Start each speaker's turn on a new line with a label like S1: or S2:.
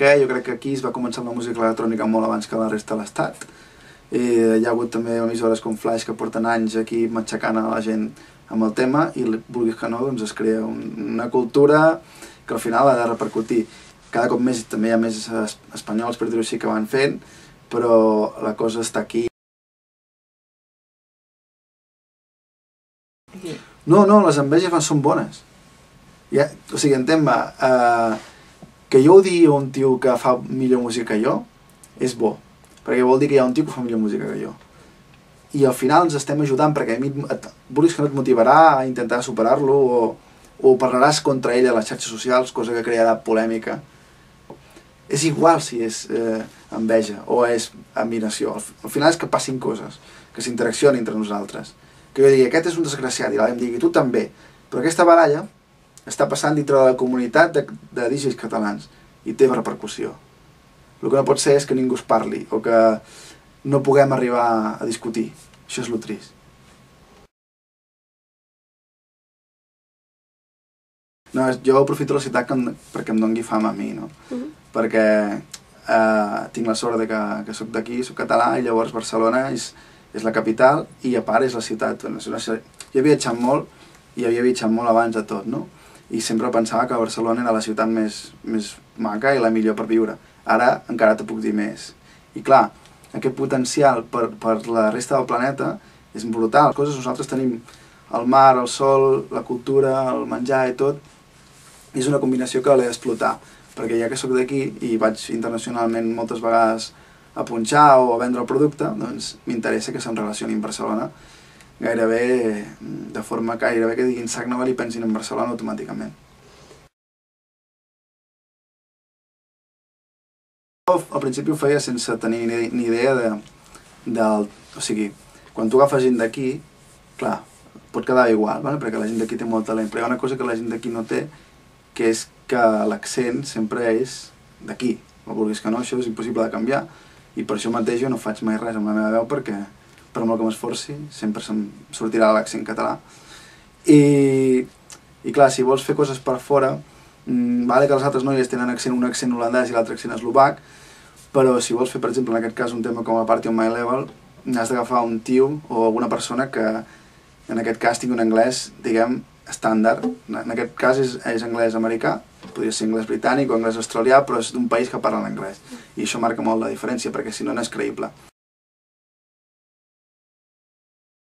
S1: què, jo crec que aquí es va començar amb la música electrònica molt abans que la resta de l'estat. Hi ha hagut també emissores com Flash que porten anys aquí matxacant a la gent amb el tema i, vulguis que no, doncs es crea una cultura que al final ha de repercutir. Cada cop més també hi ha més espanyols, per dir-ho així, que van fent, però la cosa està aquí. No, les enveges són bones. O sigui, entén-me, que jo ho digui a un tio que fa millor música que jo és bo, perquè vol dir que hi ha un tio que fa millor música que jo. I al final ens estem ajudant, perquè a mi vulguis que no et motivarà a intentar superar-lo o parlaràs contra ell a les xarxes socials, cosa que crearà polèmica. És igual si és enveja o és admiració. Al final és que passin coses, que s'interaccionin entre nosaltres. Que jo digui, aquest és un desgraciat, i l'altre em digui, tu també. Però aquesta baralla està passant dintre de la comunitat de DJs catalans i té repercussió. El que no pot ser és que ningú es parli o que no puguem arribar a discutir. Això és lo trist. No, jo aprofito la ciutat perquè em doni fama a mi, no? Perquè tinc la sort que soc d'aquí, soc català, i llavors Barcelona és la capital i a part és la ciutat. Jo he viatjat molt i havia viatjat molt abans de tot, no? I sempre pensava que Barcelona era la ciutat més maca i la millor per viure. Ara encara t'ho puc dir més. I clar, aquest potencial per la resta del planeta és brutal. Nosaltres tenim el mar, el sol, la cultura, el menjar i tot. És una combinació que l'he d'explotar, perquè ja que sóc d'aquí i vaig internacionalment moltes vegades a punxar o a vendre el producte, doncs m'interessa que se'm relacioni amb Barcelona gairebé de forma que diguin Sac Nova i pensin en Barcelona automàticament. Al principi ho feia sense tenir ni idea o sigui, quan tu agafes gent d'aquí, clar, pot quedar igual, perquè la gent d'aquí té molt talent, però hi ha una cosa que la gent d'aquí no té, que és que l'accent sempre és d'aquí. No vulguis que no, això és impossible de canviar, i per això mateix jo no faig mai res amb la meva veu, perquè per molt que m'esforci sempre se'm sortirà l'accent català. I clar, si vols fer coses per fora, vale que les altres noies tenen un accent holandès i l'altre accent eslovac, però si vols fer, per exemple, en aquest cas, un tema com a Party on My Level, has d'agafar un tio o alguna persona que, en aquest cas, tingui un anglès, diguem, estàndard. En aquest cas és anglès americà, podria ser anglès britànic o anglès australià, però és d'un país que parla l'anglès. I això marca molt la diferència, perquè si no, no és creïble.